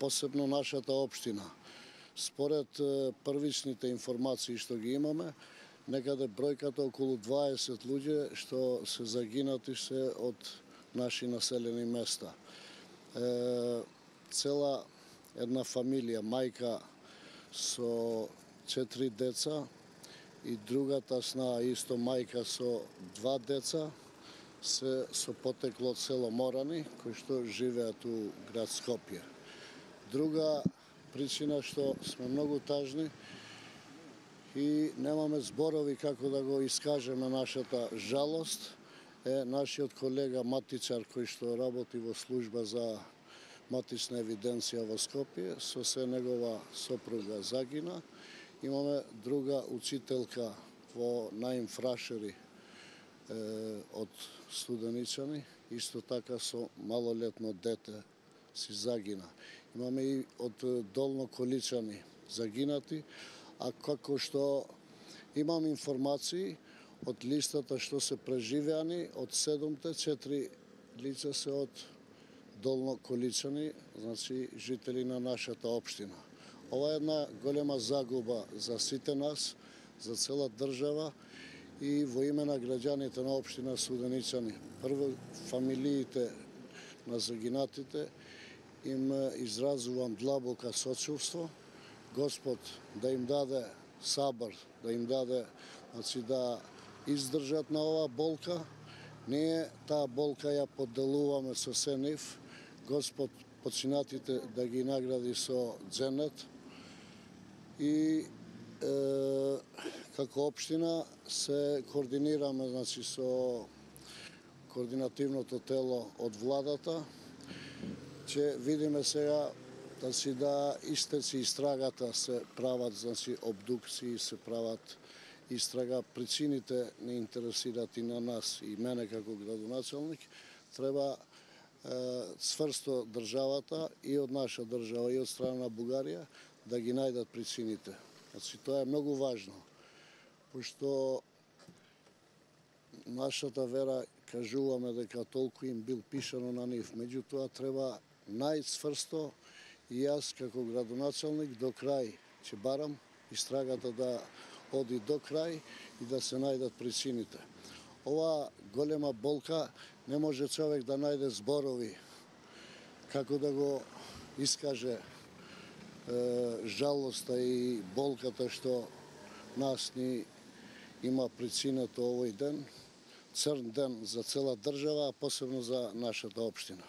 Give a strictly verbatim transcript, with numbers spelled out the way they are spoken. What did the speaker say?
посебно нашата општина. Според првичните информации што ги имаме, некаде бројката околу дваесет луѓе што се загинати се од наши населени места. Е, цела една фамилија, мајка со четири деца и другата сна исто мајка со два деца, се со потекло од село Морани, кои што живеат у град Скопје. Друга причина што сме многу тажни и немаме зборови како да го искажеме нашата жалост, е нашиот колега матичар кој што работи во служба за матична евиденција во Скопје, со се негова сопруга загина. Имаме друга учителка во Наим Фрашери од Студеничани, исто така со малолетно дете си загина. Имаме и од Долно Количани загинати, а како што имам информации од листата што се преживеани, од седумте, четири лица се од Долно Количани, значи жители на нашата општина. Ова е една голема загуба за сите нас, за цела држава и во име на граѓаните на општина Студеничани. Прво, фамилиите на загинатите им изразувам длабока сочувство. Господ да им даде сабар, да им даде, значи, да издржат на оваа болка. Ние таа болка ја поделуваме со се нив. Господ починатите да ги награди со џенет. И е, како општина се координираме, значи, со координативното тело од владата, че видиме сега, значи, да истеци истрагата, се прават, значи, обдукции, се прават истрага. Причините не интересираат и на нас, и мене како градоначалник. Треба цврсто државата и од наша држава и од страна на Бугарија да ги најдат причините. Значи, тоа е многу важно, пошто нашата вера кажуваме дека толку им бил пишано на нив, меѓутоа треба најцврсто и јас како градоначалник до крај ќе барам истрагата да оди до крај и да се најдат причините. Ова голема болка не може човек да најде зборови како да го искаже е, жалоста и болката што нас ни има причината овој ден, црн ден за цела држава, а посебно за нашата општина.